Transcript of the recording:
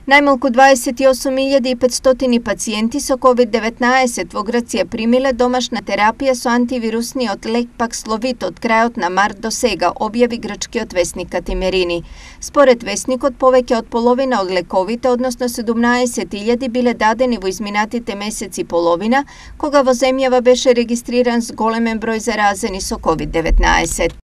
Најмалку 28.500 пациенти со COVID-19 во Грција примиле домашна терапија со антивирусниот лек Паксловид од крајот на март до сега, објави грчкиот весник Катимерини. Според весникот, повеќе од половина од лековите, односно 17.000, биле дадени во изминатите месеци половина, кога во земјава беше регистриран зголемен број заразени со COVID-19.